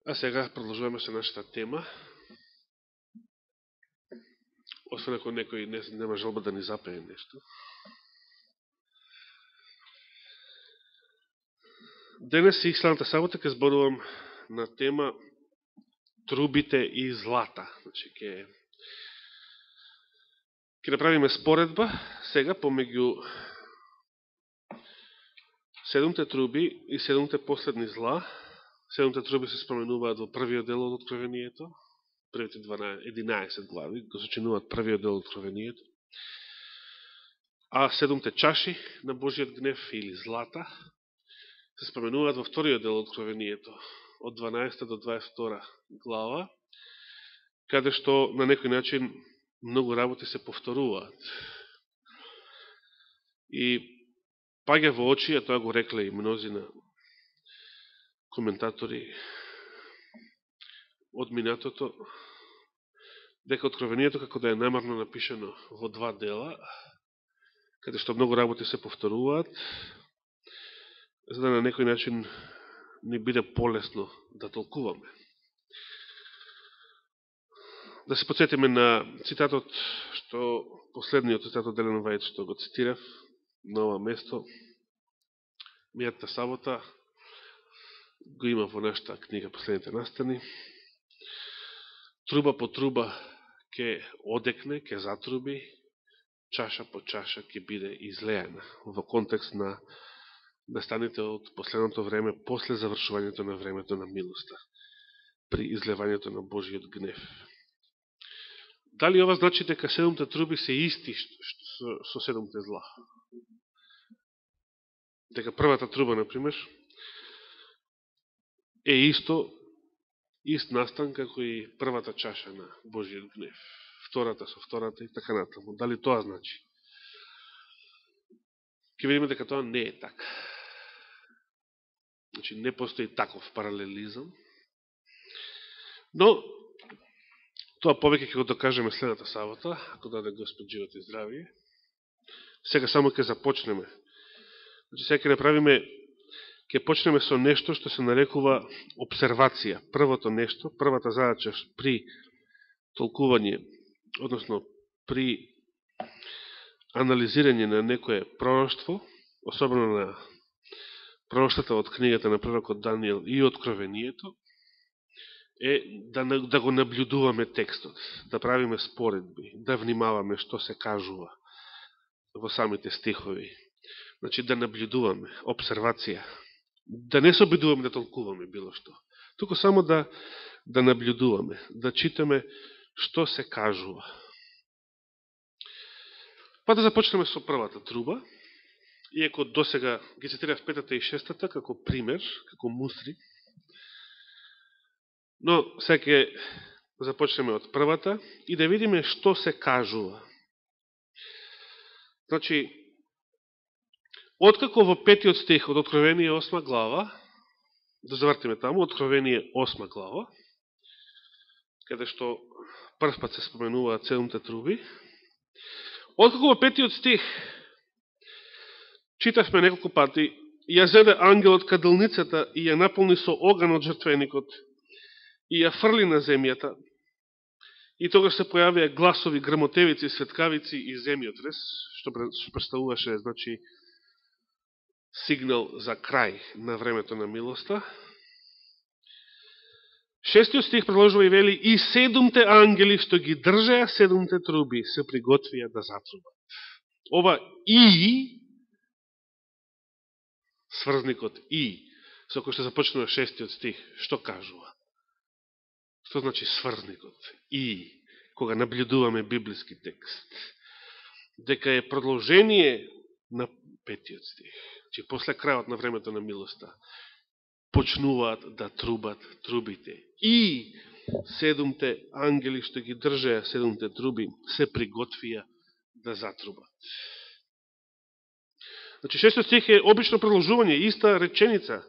А сега продолжуваме со нашата тема. Освен ако некој нема желба да ни запее нешто. Денес и следната сабота ќе зборувам на тема трубите и злата. Значи, ќе направиме споредба сега помеѓу 7 труби и 7 последни зла. 7 труби се споменуваат во првиот дел од Откровението, првите 11 глави го сочинуваат првиот дел од Откровението. А 7 чаши на Божиот гнев или злата се споменуваат во вториот дел од Откровението, од 12 до 22 глава, каде што на некој начин многу работи се повторуваат. И паѓа во очи, а тоа го рекле и мнозина коментатори од минатото, дека Откровението како да е намерно напишано во два дела, каде што многу работи се повторуваат, за да на некој начин не биде полесно да толкуваме. Да се подсетиме на цитатот, што последниот цитат од Елен Вајд, што го цитирав на ова место, мијатата сабота, го има во нашата книга Последните настани. Труба по труба ќе одекне, ќе затруби, чаша по чаша ќе биде излејана, во контекст на настаните од последното време, после завршувањето на времето на милоста, при излевањето на Божиот гнев. Дали ова значи дека 7 труби се исти со 7 зла? Дека првата труба, например, е ист настан како и првата чаша на Божиот гнев, втората со втората и така натаму. Дали тоа значи? Ке видиме дека тоа не е така. Значи, не постои таков паралелизам, но тоа повеќе ќе го докажеме следната сабота, ако даде Господ живот и здравие. Сега само ќе започнеме. Значи, сега ќе почнеме со нешто што се нарекува обсервација. Првото нешто, првата задача при толкување, односно при анализирање на некое пророштво, особено на пророштата од книгата на пророкот Даниел и Откровението, е да го наблюдуваме текстот, да правиме споредби, да внимаваме што се кажува во самите стихови. Значи, да наблюдуваме, обсервација. Да не се обидуваме да толкуваме било што. Туку само да наблюдуваме, да читаме што се кажува. Па да започнеме со првата труба, иако досега ги цитирав 5-та и 6-та како пример, како мустри, но сега ќе започнеме од првата и да видиме што се кажува. Значи, откако во 5-тиот стих од Откровение 8 глава, да завртиме таму, Откровение 8 глава, каде што прв пат се споменуваат 7 труби, откако во 5-тиот стих читавме неколку пати, ја зеде ангелот кадилницата и ја наполни со оган од жртвеникот и ја фрли на земјата, и тогаш се појавија гласови, грмотевици, светкавици и земјотрес, што представуваше, значи, сигнал за крај на времето на милоста. 6-тиот стих продолжува и вели: и 7 ангели што ги држеа 7 труби се приготвија да затрубат. Ова и сврзникот и, со кој што започнува 6-тиот стих, што кажува? Што значи сврзникот и, кога наблюдуваме библиски текст? Дека е продолжение на 5-тиот стих. Че после крајот на времето на милоста почнуваат да трубат трубите. И 7 ангели што ги држеа 7 труби се приготвија да затрубат. Значи 6 стих е обично продолжување, иста реченица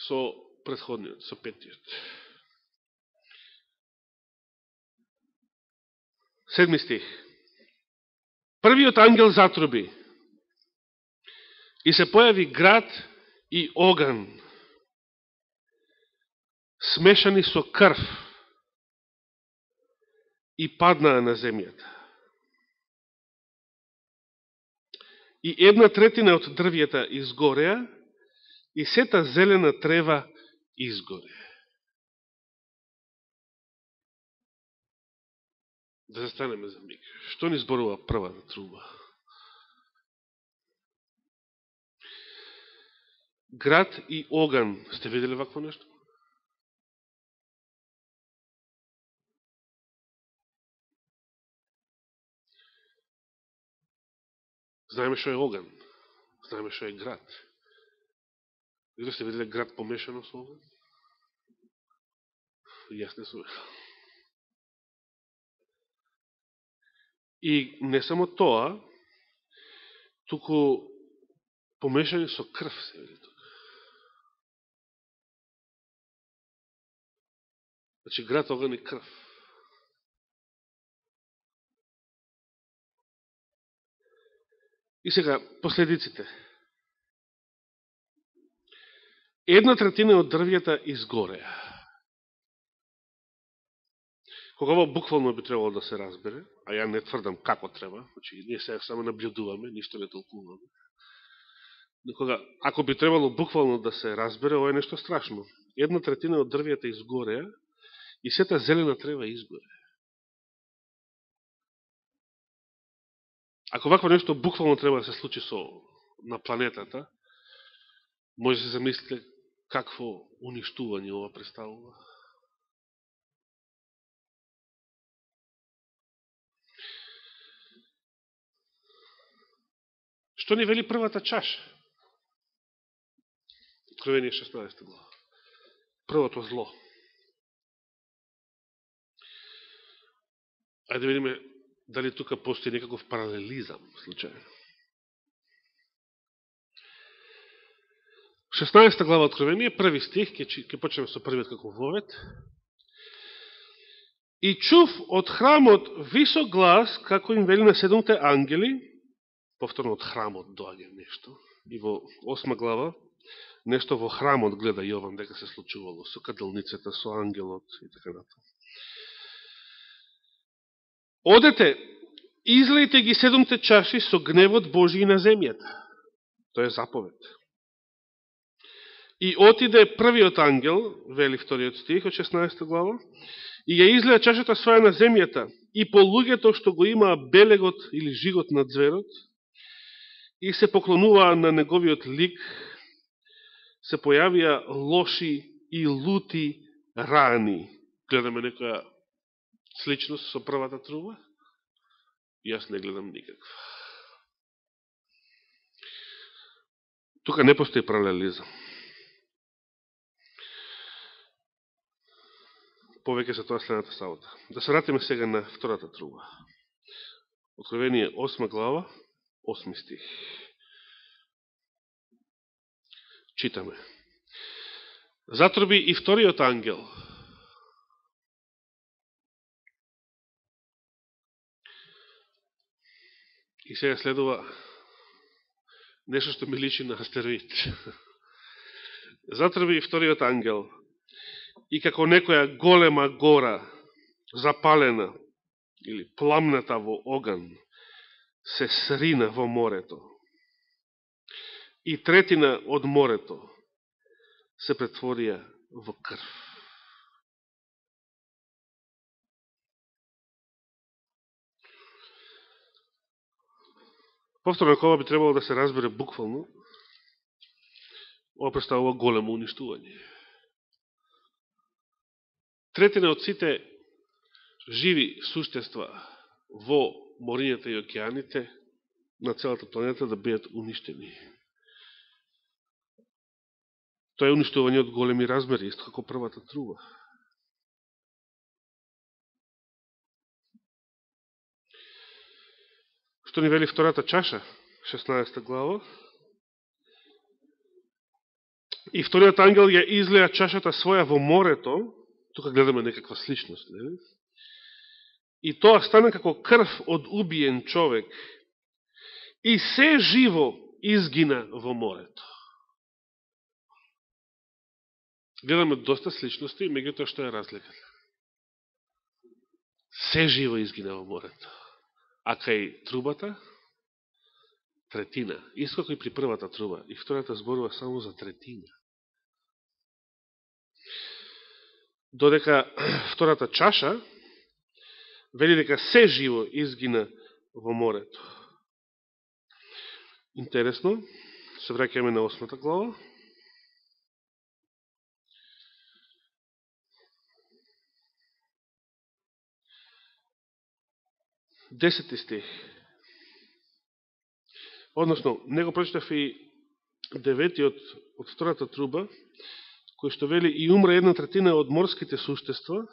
со предходниот, со 5-тиот. 7 стих. Првиот ангел затруби и се појави град и оган смешани со крв и паднаа на земјата. И 1/3 од дрвјата изгореа и сета зелена трева изгоре. Да застанеме за миг. Што ни зборува првата труба? Град и оган. Сте видели вакво нешто? Знаеме што е оган. Знаеме што е град. Видели сте видели град помешано со оган? Јас не сум. И не само тоа, туку помешани со крв се види тука. Значи град, оган и крв. И сега, последиците. 1/3 од дрвјата изгореа. Кога ово буквално би требало да се разбере, а ја не тврдам како треба, значи ние сега само наблюдуваме, ништо не толкуваме. Но кога, ако би требало буквално да се разбере, ова е нешто страшно. 1/3 од дрвјата изгореа и сета зелена трева изгоре. Ако вакво нешто буквално треба да се случи на планетата, може да се замислите какво уништување ова представува. Што ни вели првата чаша? Откровение 16 глава. Првото зло. Ајде да видиме дали тука постои некаков паралелизам случајно. 16 глава Откровение, први стих, ќе почнеме со првиот како вовет. И чув од храмот висок глас, како им вели на 7 ангели, повторно од храмот доаѓа нешто, и во 8 глава, нешто во храмот гледа Јован дека се случувало, со каделницата, со ангелот и така натаму. Одете, излејте ги 7 чаши со гневот Божи на земјата. Тоа е заповед. И отиде првиот ангел, вели вториот стих од 16 глава, и ја излеја чашата своја на земјата, и по луѓето што го имаа белегот или жигот на зверот, и се поклонуваа на неговиот лик, се појавија лоши и лути рани. Гледаме некоја сличност со првата труба? Јас не гледам никаква. Тука не постои паралелизам. Повеќе се тоа следната сабота. Да се вратиме сега на втората труба. Откровение 8 глава, 8 стих. Читаме. Затруби и вториот ангел. И сега следува нешто што ми личи на астероид. Затруби и вториот ангел. И како некоја голема гора, запалена или пламната во оган, се срина во морето. И третина од морето се претворија во крв. Повторно, ако ова би требало да се разбере буквално, ова представува големо уништување. Третина од сите живи суштества во морињата и океаните на целата планета да бидат уништени. Тоа е уништување од големи размери, исто како првата труба. Што ни вели втората чаша, 16 глава? И вториот ангел ја излеја чашата своја во морето, тука гледаме некаква сличност, не? И тоа стана како крв од убиен човек. И се живо изгина во морето. гледаме доста сличности, меѓутоа што е разликата? Се живо изгина во морето. А кај трубата, третина. Исто како и при првата труба. И втората зборува само за третина. Додека втората чаша вели дека се живо изгина во морето. Интересно, се враќаме на 8 глава. Десети стих. Односно, него прочитав и 9 од втората труба, кој што вели и умра 1/3 од морските суштества,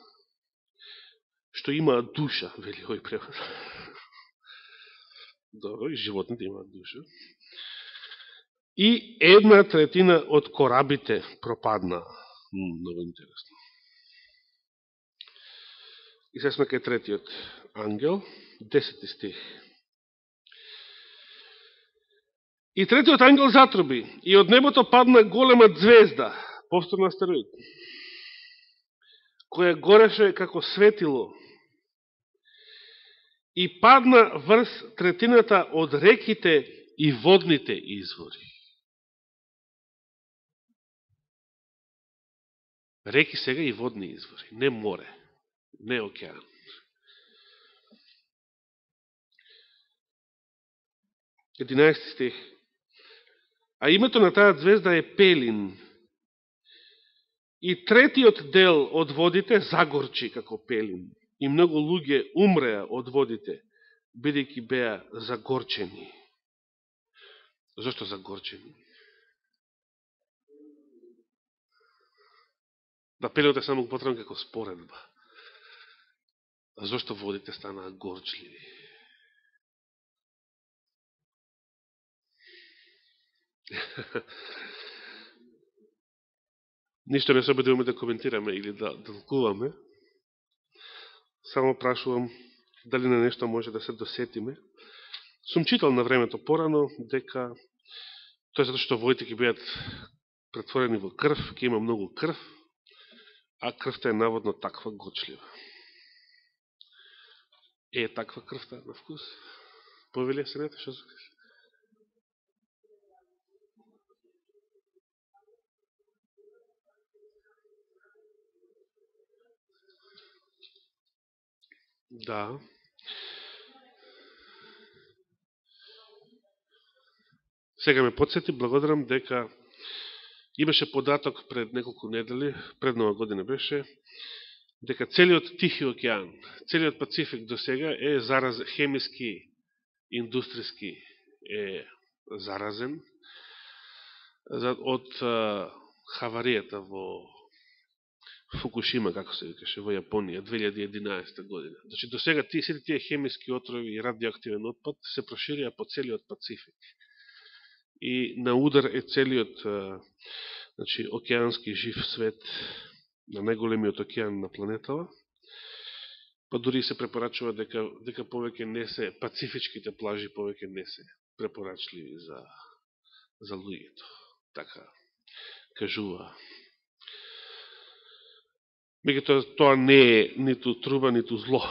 што имаат душа, вели овој превод. Добро, и животните имаат душа. И 1/3 од корабите пропадна. Много интересно. И сега сме кај третиот ангел, 10 стих. И третиот ангел затруби, и од небото падна голема звезда, повторно астероид, која гореше како светило, и падна врз третината од реките и водните извори. Реки сега и водни извори, не море, не океан. Единаести стих. А името на таа звезда е Пелин. И третиот дел од водите загорчи како Пелин. И многу луѓе умреа од водите, бидејќи беа загорчени. Зошто загорчени? Да, Пелинот е само потребен како споредба. А зошто водите станаа горчливи? Ништо не се обидуваме да коментираме или да толкуваме. Само прашувам дали на нешто може да се досетиме. Сум читал на времето порано дека тоа е затоа што водите ќе бидат претворени во крв, ќе има многу крв, а крвта е наводно таква горчлива. Е таква крвта на вкус? Повели Сенета, што се кажа? Да. Сега ме подсети, благодарам, дека имаше податок пред неколку недели, пред Нова година беше, дека целиот Тихи океан, целиот Пацифик до сега е хемиски, индустријски е заразен од хаваријата во Фукушима, како се викаше, во Јапонија, 2011 година. Значи, до сега сите тие хемиски отрови и радиоактивен отпад се проширија по целиот Пацифик. И на удар е целиот значи, океански жив свет на најголемиот океан на планетава. Па дури се препорачува дека повеќе не се, пацифичките плажи повеќе не се препорачливи за луѓето. Така кажува. Меѓутоа, тоа не е ниту труба, ниту зло.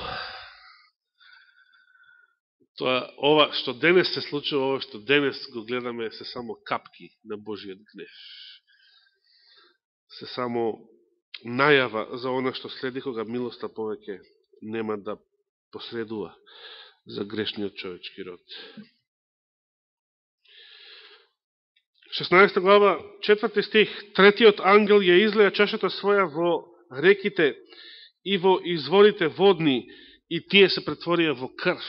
Ова што денес се случува, ова што денес го гледаме, се само капки на Божиот гнев. Се само најава за она што следи, кога милоста повеќе нема да посредува за грешниот човечки род. 16 глава, 4 стих. Третиот ангел ја излеја чашата своја во реките и во изворите водни, и тие се претворија во крв.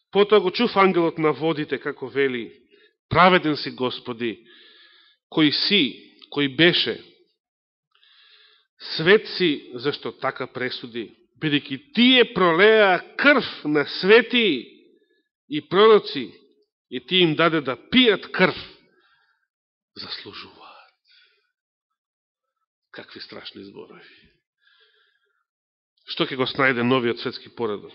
Потоа го чув ангелот на водите, како вели: праведен си, Господи, кој беше, свет си, зашто така пресуди, бидејќи тие пролеа крв на свети и пророци, и ти им даде да пијат крв, заслужуваат. Какви страшни зборови. Што ќе го снајде новиот светски поредок?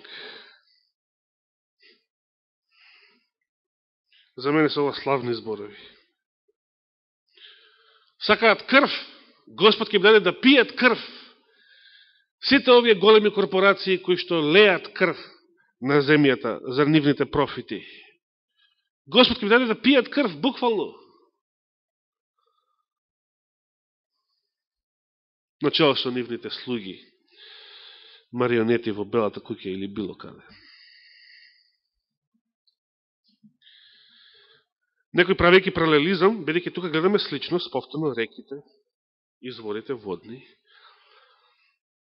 За мене се ова славни зборови. сакаат крв, Господ ќе даде да пијат крв. Сите овие големи корпорации кои што леат крв на земјата за нивните профити. Господ ќе даде да пијат крв, буквално. Начало со нивните слуги, марионети во Белата куќа или било каде. Некој правејќи паралелизам, бидејќи тука гледаме сличност, повторно реките, изворите водни,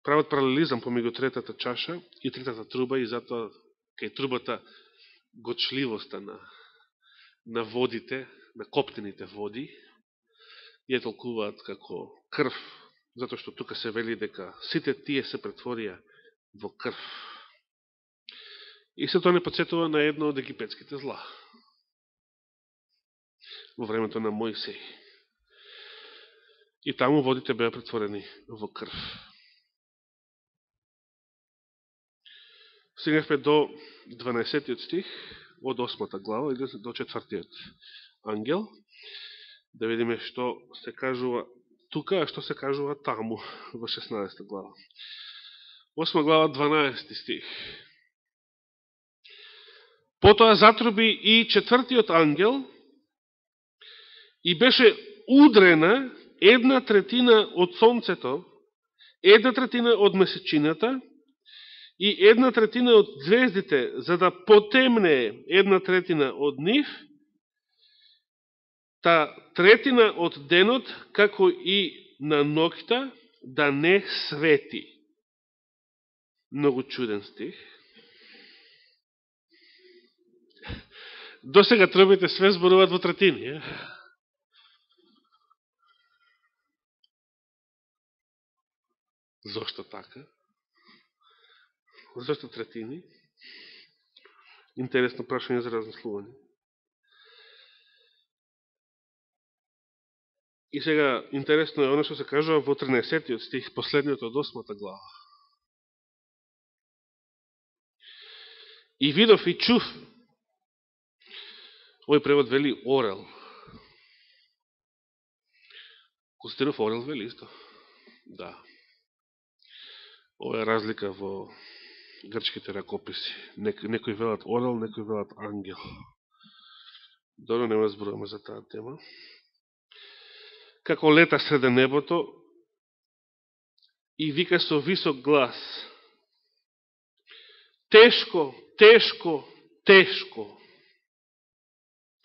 прават паралелизам помеѓу третата чаша и третата труба и затоа кај трубата гочливоста на водите, на коптените води, ја толкуваат како крв, затоа што тука се вели дека сите тие се претворија во крв. И се тоа не подсетува на едно од египетските зла во времето на Мојсей. И таму водите беа претворени во крв. Стигнахме до 12 стих од 8 глава или до 4 ангел. Да видиме што се кажува тука, а што се кажува таму во 16 глава. 8 глава 12 стих. Потоа затруби и 4 ангел и беше удрена 1/3 од сонцето, 1/3 од месечината и 1/3 од звездите, за да потемне 1/3 од нив, та 1/3 од денот, како и на ноќта, да не свети. Многу чуден стих. До сега трубите све зборуваат во третини. Зошто така? Зошто третини? Интересно прашање за размислување. И сега, интересно е оно што се кажува во 13 стих, последниот од 8 глава. И видов и чув. Овој превод вели орел. Костинов орел вели исто. Да. Ова е разлика во грчките ракописи. Некои велат орел, некои велат ангел. Добро, нема зборуваме за таа тема. Како лета среде небото и вика со висок глас: тешко, тешко, тешко.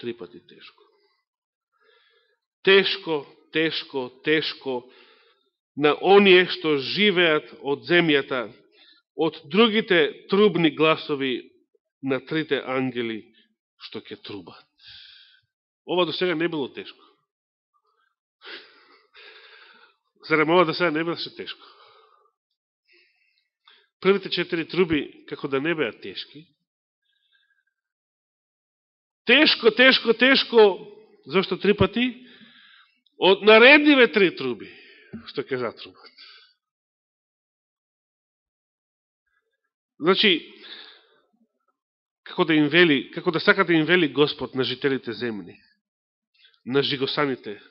3 пати тешко. Тешко, тешко, тешко на оние што живеат од земјата, од другите трубни гласови на 3 ангели што ќе трубат. Ова до сега не било тешко. Зарем ова до сега не беше тешко? Првите 4 труби, како да не беа тешки. Тешко, тешко, тешко, зашто 3 пати? Од наредниве 3 труби, што ќе затрубат. Значи, како да сака да им вели Господ на жителите земни, на жигосаните,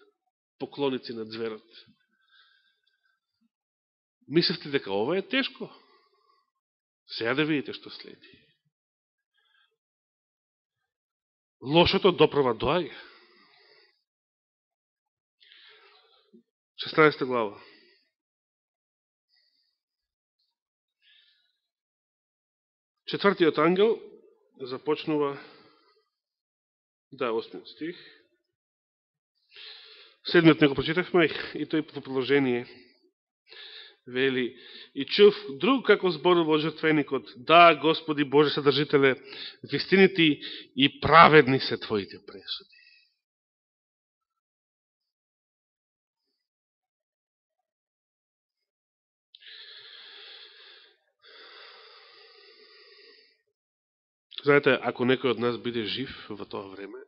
поклоници на зверот. Мислевте дека ова е тешко? Сега да видите што следи. Лошото допрва доаѓа. 16 глава. Четвртиот ангел започнува, 8 стих. 7 не го прочитавме и тој по продолжение вели: и чув друг како зборува жртвеникот: да, Господи Боже Содржителе, вистинити и праведни се Твоите пресуди. Знаете, ако некој од нас биде жив во тоа време,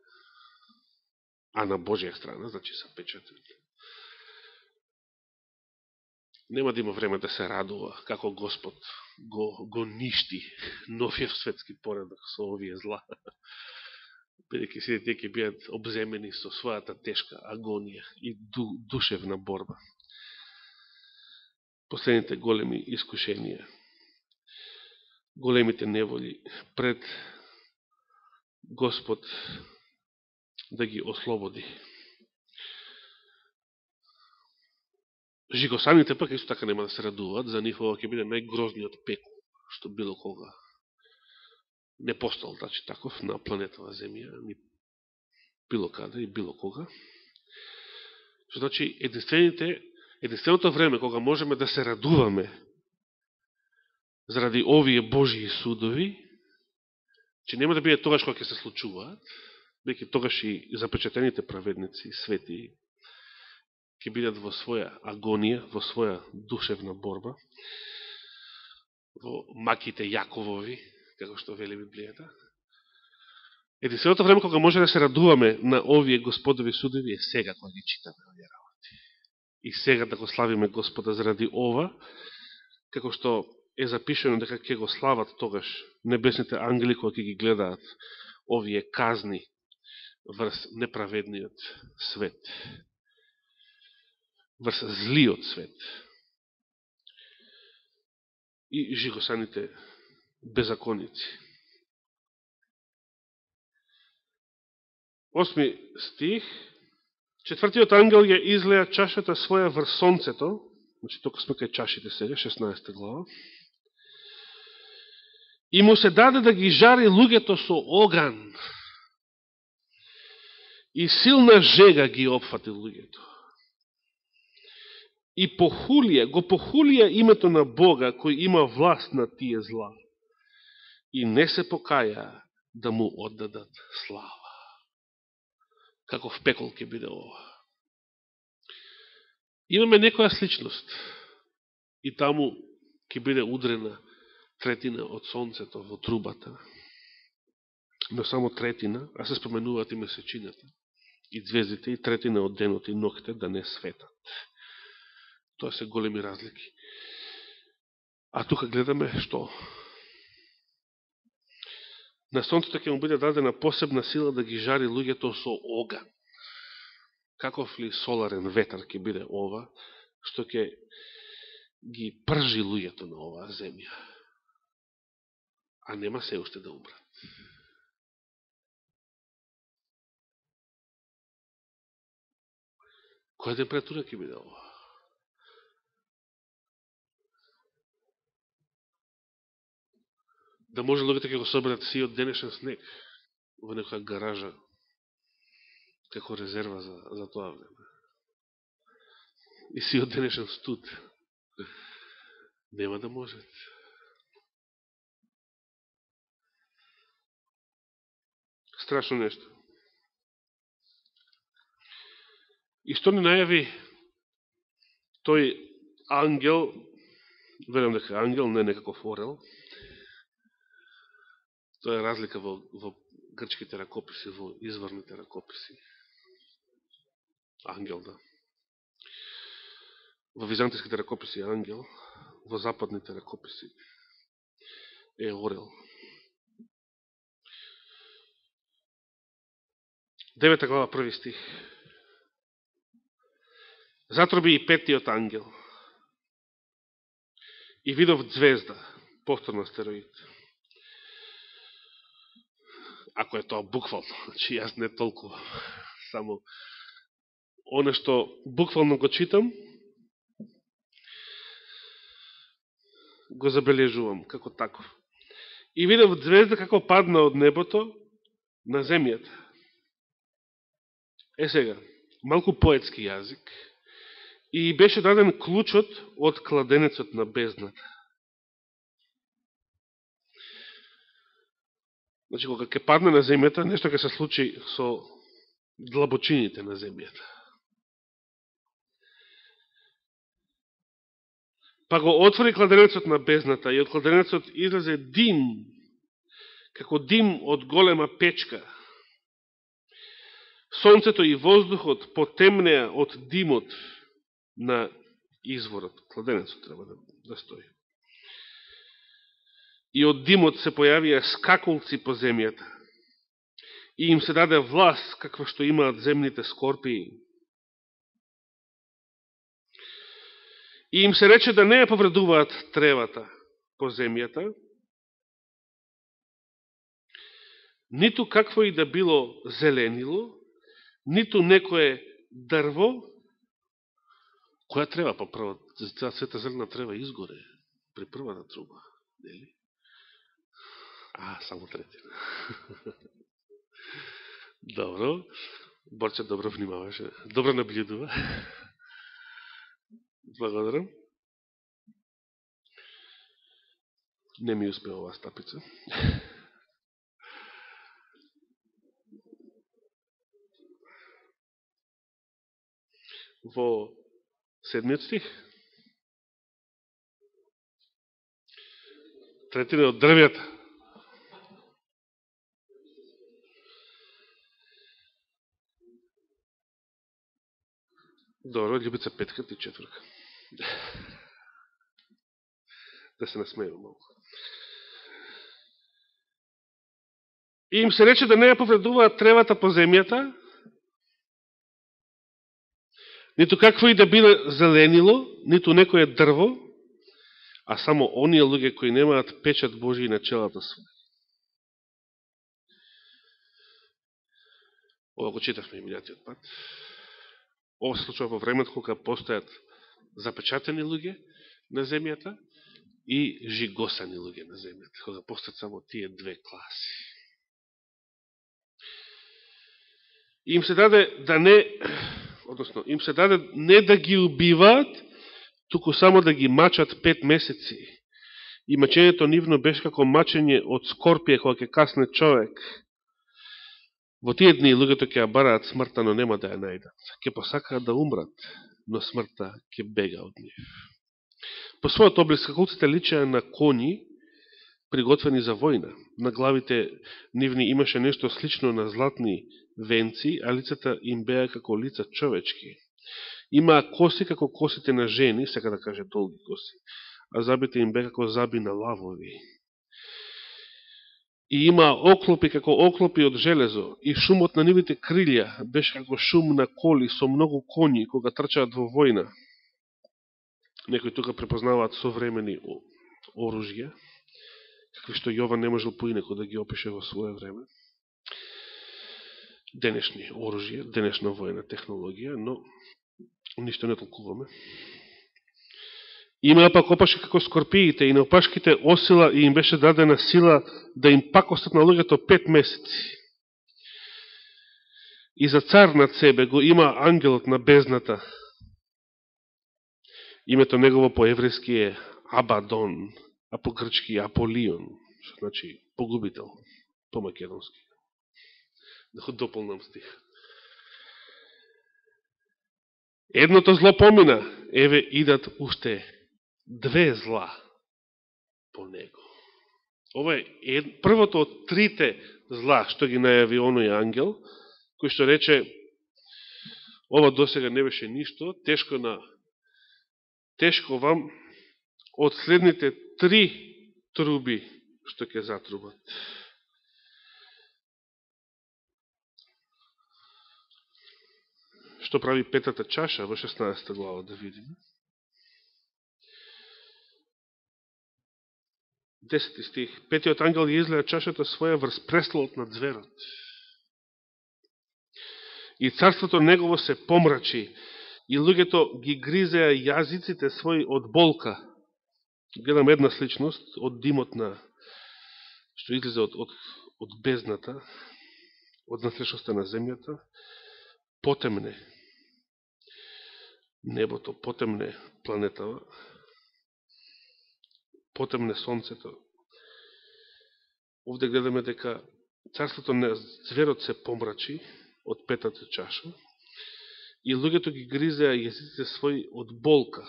а на Божја страна, значи са печатени, нема да има време да се радува како Господ го ништи новиот светски поредок со овие зла. бидејќи сите тие ќе бидат обземени со својата тешка агонија и душевна борба. Последните големи искушенија, големите неволи пред Господ да ги ослободи. Жигосаните пак исто така нема да се радуваат, за нив ова ќе биде најгрозниот пекол, што било кога не постал, значи таков, на планетава Земја, ни било каде и било кога. Што значи, единственото време кога можеме да се радуваме заради овие Божии судови, че нема да биде тогаш кога ќе се случуваат, веќе тогаш и запечатените праведници, свети, ќе бидат во своја агонија, во своја душевна борба, во маките Јаковови, како што вели Библијата. Единственото време кога може да се радуваме на овие Господови судови е сега кога ги читаме овие работи. И сега да го славиме Господа заради ова, како што е запишено дека ќе го слават тогаш небесните ангели кога ќе ги гледаат овие казни врз неправедниот свет, врз злиот свет и жигосаните беззаконици. 8 стих. Четвртиот ангел ја излеа чашата своја врз сонцето, значи тока сме кај чашите сега, 16 глава, и му се даде да ги жари луѓето со оган, и силна жега ги опфати луѓето. И го похулија името на Бога, кој има власт на тие зла, и не се покаја да му оддадат слава. Каков пекол ќе биде ова. Имаме некоја сличност, и таму ќе биде удрена третина од сонцето во трубата, но само третина, а се споменуваат и месечината, и звездите, и третина од денот и ноќте да не светат. Тоа се големи разлики. А тука гледаме што? На сонцето ќе му биде дадена посебна сила да ги жари луѓето со оган. Каков ли соларен ветар ќе биде ова, што ќе ги пржи луѓето на оваа земја, а нема се уште да умрат. Која температура ќе биде ова? Да може луѓето ќе го соберат си од денешен снег во некоја гаража како резерва за тоа време. И си од денешен студ. Нема да можат. Страшно нешто. И што ни најави тој ангел, верувам дека ангел, не некаков орел. Тоа е разлика во грчките ракописи, во изворните ракописи. Ангел, да. Во византиските ракописи е ангел, во западните ракописи е орел. 9 глава, 1 стих. Затроби и петтиот ангел. И видов звезда, повторно астероид. Ако е тоа буквално, значи јас не толкова, само оно што буквално го читам, го забележувам како таков. И видов звезда како падна од небото на земјата. Е сега, малку поетски јазик, и беше даден клучот од кладенецот на бездната. Значи, кога ќе падне на земјата, нешто ќе се случи со длабочините на земјата. Па го отвори кладенецот на бездната и од кладенецот излезе дим, како дим од голема печка. Сонцето и воздухот потемнеа од димот на изворот. Кладенецот треба да стои. И од димот се појавија скакулци по земјата. и им се даде власт каква што имаат земните скорпии. И им се рече да не ја повредуваат тревата по земјата, ниту какво и да било зеленило, ниту некое дрво. Која трева? Па прво, цела света зелена трева изгоре при првата труба, нели? Само третина. Добро. Борче добро внимаваше. Добро наблюдува. Благодарам. Не ми успеа оваа стапица. Во 7 стих, третина од дрвјата. Добро, Љубица петка, ти четврка. Да се насмејам малко. И им се рече да не ја повредуваат тревата по земјата, ниту какво и да биле зеленило, ниту некое дрво, а само оние луѓе кои немаат печат Божи на челата своја. Ова го читавме и минатиот пат. Ова се случува во времето кога постојат запечатени луѓе на земјата и жигосани луѓе на земјата, кога постојат само тие две класи. И им се даде да не, односно, им се даде не да ги убиваат, туку само да ги мачат 5 месеци. И мачењето нивно беше како мачење од скорпија кога ќе касне човек. Во тие дни луѓето ќе ја бараат смртта, но нема да ја најдат. Ќе посакаат да умрат, но смртта ќе бега од нив. По својот облик скакулците личеа на коњи, приготвени за војна. На главите нивни имаше нешто слично на златни венци, а лицата им беа како лица човечки. Имаа коси како косите на жени, сека да каже долги коси, а забите им беа како заби на лавови. И имаа оклопи како оклопи од железо, и шумот на нивите крилја беше како шум на коли со многу коњи кога трчаат во војна. Некои тука препознаваат современи оружја, какви што Јован не можел поинако да ги опише во своје време. Денешни оружја, денешна војна технологија, но ништо не толкуваме. Имаа пак опашки како скорпиите и на опашките осила и им беше дадена сила да им пакостат на луѓето 5 месеци. И за цар над себе го има ангелот на бездната. Името негово по еврејски е Абадон, а по грчки Аполион, што значи погубител, по македонски. Да го дополнам стих. Едното зло помина, еве идат уште 2 зла по него. Ова е првото од 3 зла што ги најави оној ангел, кој што рече, ова досега не беше ништо, тешко вам од следните 3 труби што ќе затрубат. Што прави петата чаша во 16 глава, да видиме. 10 стих. Петиот ангел ја излеа чашата своја врз престолот на зверот. И царството негово се помрачи, и луѓето ги гризеа јазиците своји од болка. Гледам една сличност од димот на што излезе од бездната, од насрешноста на земјата, потемне небото, потемне планетава, потемне сонцето. Овде гледаме дека царството на зверот се помрачи од петата чаша и луѓето ги гризеа јазиците своји од болка.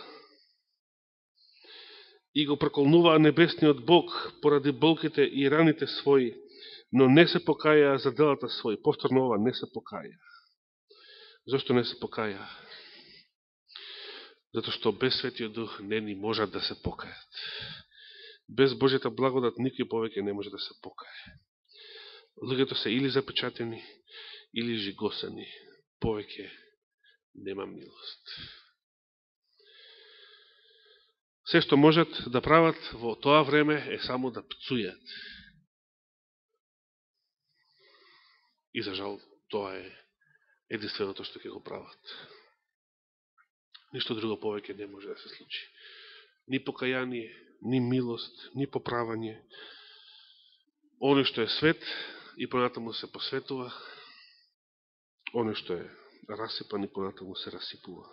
И го проколнуваа небесниот Бог поради болките и раните своји, но не се покаја за делата своји. Повторно ова, не се покаја. Зошто не се покаја? Зато што без Светиот Дух не ни можат да се покајат. Без Божјата благодат никој повеќе не може да се покае. луѓето се или запечатени, или жигосани. Повеќе нема милост. Се што можат да прават во тоа време е само да пцујат. И за жал, тоа е единственото што ќе го прават. Ништо друго повеќе не може да се случи. Ни покаяние, ни милост, ни поправање. Оно што е свет и понатаму се посветува, оно што е расипан и понатаму се расипува.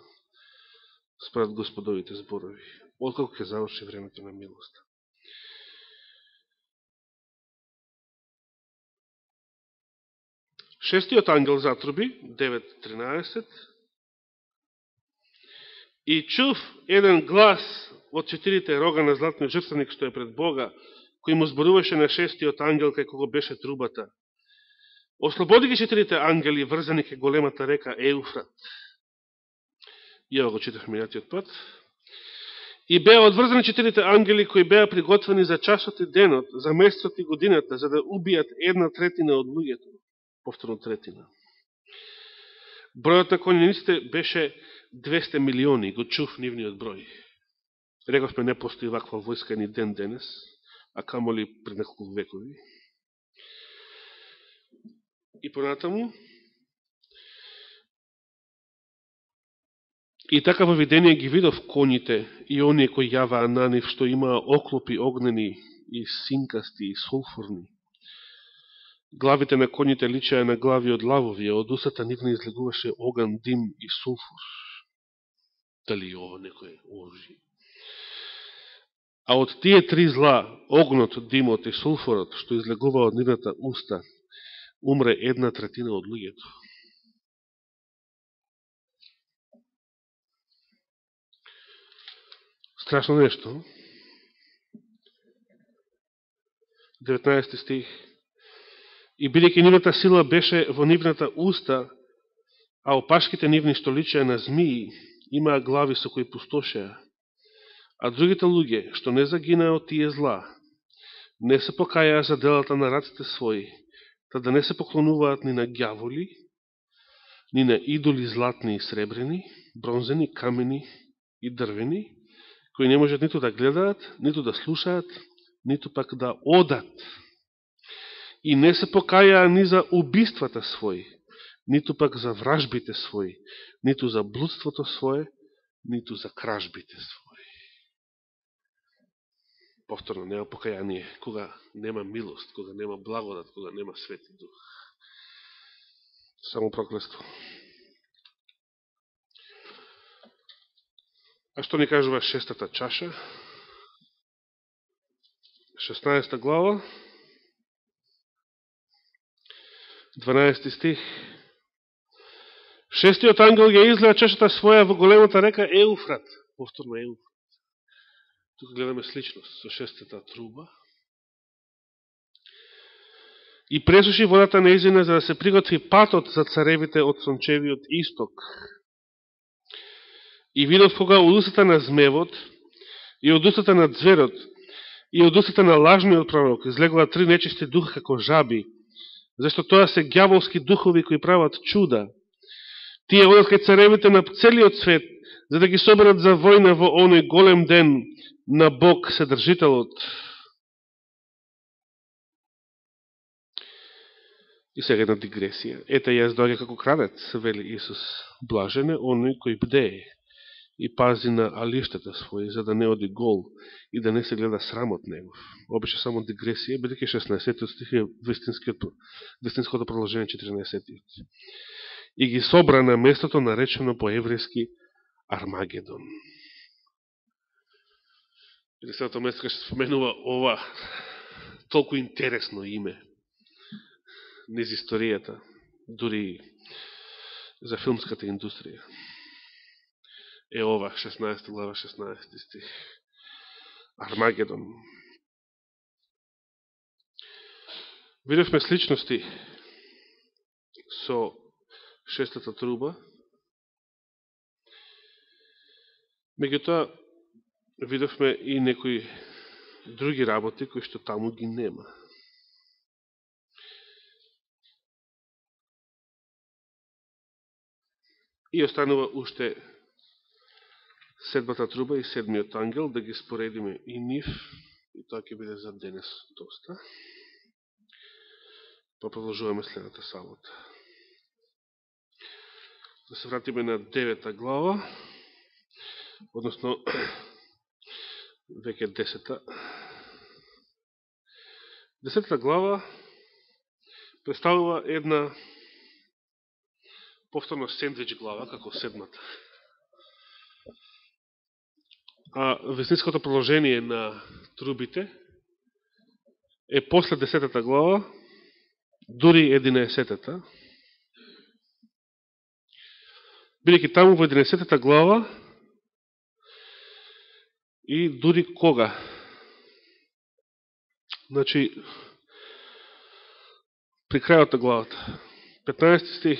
Според Господовите зборови, откако ќе заврши времето на милоста. Шестиот ангел затруби, 9:13, и чув еден глас од четирите рога на златниот жртвеник што е пред Бога, кој му зборуваше на шестиот ангел кај кого беше трубата. Ослободи ги четирите ангели врзани кај големата река Еуфрат. И ова го читав минатиот пат. И беа одврзани четирите ангели кои беа приготвени за часот и денот, за месецот и годината, за да убијат 1/3 од луѓето. Повторно третина. Бројот на конјаниците беше 200 милиони, го чув нивниот број. Рековме, не постои ваква војска ни ден денес, а камоли пред неколку векови. И понатаму, и така во видение ги видов коњите и оние кои јаваа на нив, што имаа оклопи огнени и синкасти и сулфурни. Главите на коњите личеа на глави од лавови, а од устата нивни излегуваше оган, дим и сулфур. Дали ово некој оружје? А од тие три зла, огнот, димот и сулфурот, што излегува од нивната уста, умре 1/3 од луѓето. Страшно нешто. 19 стих. И бидејќи нивната сила беше во нивната уста, а опашките нивни што личеа на змии, имаа глави со кои пустошеа. А другите луѓе, што не загинаа од тие зла, не се покајаа за делата на раците своји, та да не се поклонуваат ни на ѓаволи, ни на идоли златни и сребрени, бронзени, камени и дрвени, кои не можат ниту да гледаат, ниту да слушаат, ниту пак да одат. И не се покајаа ни за убиствата своји, ниту пак за вражбите своји, ниту за блудството свое, ниту за кражбите своји. Повторно, нема покаяние, кога нема милост, кога нема благодат, кога нема Свети Дух. Само проклество. А што ни кажува шестата чаша? 16 глава, 12 стих. Шестиот ангел ја излеа чашата своја во големата река Еуфрат. Повторно Еуфрат. Тука гледаме сличност со шестата труба. И пресуши водата неизина за да се приготви патот за царевите од сончевиот исток. И видов кога од устата на змевот, и од устата на зверот, и од устата на лажниот пророк излегува 3 нечисти духа како жаби, зашто тоа се ѓаволски духови кои прават чуда. Тие одат кај царевите на целиот свет, за да ги соберат за војна во оној голем ден на Бог Седржителот. И сега една дигресија. Ете, јас доаѓа како крадец, вели Исус. Блажен е оној кој бдее и пази на алиштата своји, за да не оди гол и да не се гледа срамот негов. Обеше само дигресија, бидејќи 16 стих е вистинското продолжение 14. И ги собра на местото наречено по еврејски Армагедон. Единственото место кај се споменува ова толку интересно име низ историјата, дури за филмската индустрија. Е ова, 16 глава, 16 стих. Армагедон. Видевме сличности со шестата труба. Меѓутоа, видовме и некои други работи кои што таму ги нема. И останува уште седмата труба и седмиот ангел, да ги споредиме и нив, и тоа ќе биде за денес доста. Па продолжуваме следната сабота. Да се вратиме на 9 глава, односно веќе 10. 10 глава представува една повторно сендвич глава, како седмата. А веснинското продолжение на трубите е после 10 глава, дури 11-та. Бидејќи таму во 11 глава и дури кога? Значи, при крајот на главата, 15 стих,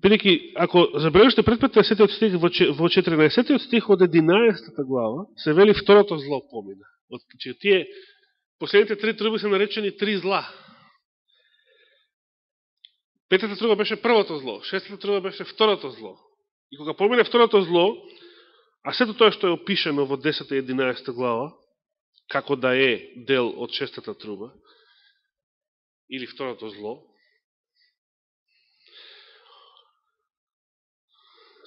бидејќи, ако забележите пред 15 стих, во 14 стих од 11 глава, се вели второто зло помина. Значи, тие последните три труби се наречени три зла. Петата труба беше првото зло, шестата труба беше второто зло. И кога помине второто зло, а сето тоа што е опишено во 10 и 11 глава, како да е дел од шестата труба, или второто зло,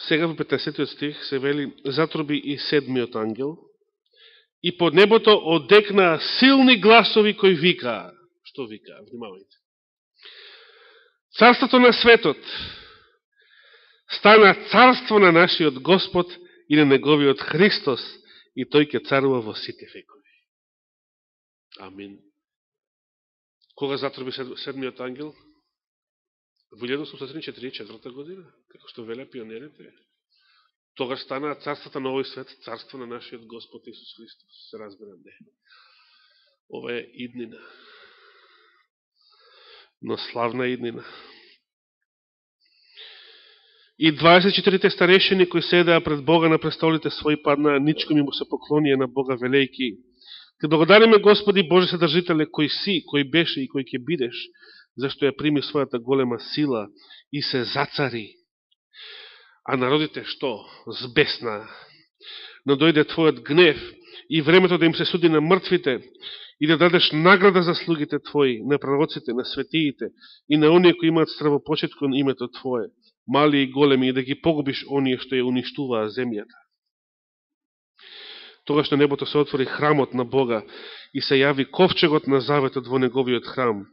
сега во 15 стих се вели затруби и седмиот ангел, и под небото одекнаа силни гласови кои викаа. Што викаа? Внимавајте. Царството на светот стана царство на нашиот Господ и на неговиот Христос, и тој ќе царува во сите векови. Амин. Кога затруби седмиот ангел? Во 1844 година, како што велеа пионерите. Тогаш станаа царството на овој свет, царство на нашиот Господ Исус Христос. Се разбира, не. Ова е иднина. Но славна иднина. И 24 старешини кои седеа пред Бога на престолите своји паднаа ничком и му се поклонија на Бога велејки: Те благодариме Господи Боже Содржителе, кој си, кој беше и кој ќе бидеш, зашто ја прими својата голема сила и се зацари. А народите што? Збеснаа. Но дојде Твојот гнев и времето да им се суди на мртвите и да дадеш награда за слугите Твои, на пророците, на светиите и на оние кои имаат стравопочет кон името Твое, мали и големи, и да ги погубиш оние што ја уништуваа земјата. Тогаш на небото се отвори храмот на Бога и се јави ковчегот на заветот во неговиот храм.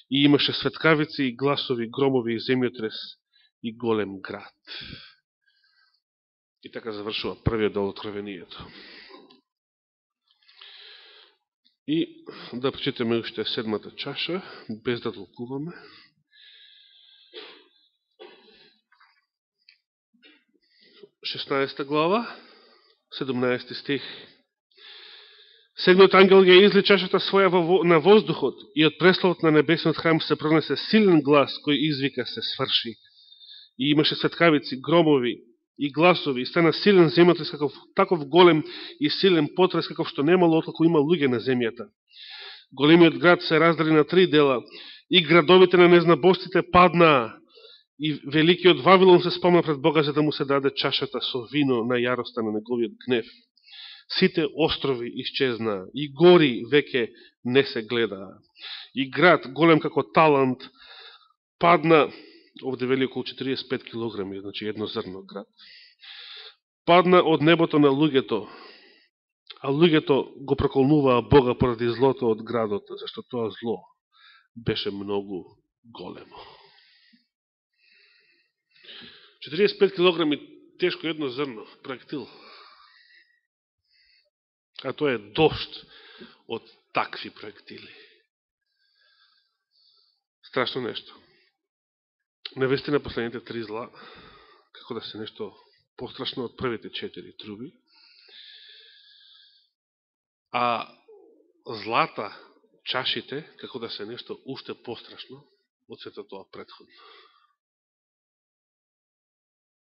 И имаше светкавици и гласови, громови и земјотрес и голем град. И така завршува првиот дел од Откровението. И да прочитаме уште седмата чаша, без да толкуваме. Шестнаеста глава, 17 стих. Седмиот ангел ја изли чашата своја на воздухот и од пресловот на небесниот храм се пронесе силен глас кој извика се сврши. И имаше светкавици, громови и гласови и стана силен земјотрес, таков голем и силен потрес каков што немало откако има луѓе на земјата. Големиот град се раздели на три дела и градовите на незнабожците паднаа и великиот Вавилон се спомна пред Бога за да му се даде чашата со вино на јароста на неговиот гнев. Сите острови исчезнаа и гори веќе не се гледаа. И град, голем како талант, падна, овде вели околу 45 килограми, значи едно зрно град, падна од небото на луѓето, а луѓето го проколнуваа Бога поради злото од градот, зашто тоа зло беше многу големо. 45 килограми тешко едно зрно, проектил. А тоа е дошт од такви проектили. Страшно нешто. Навестина последните три зла, како да се нешто пострашно од првите 4 труби, а злата, чашите, како да се нешто уште пострашно од сето тоа претходно.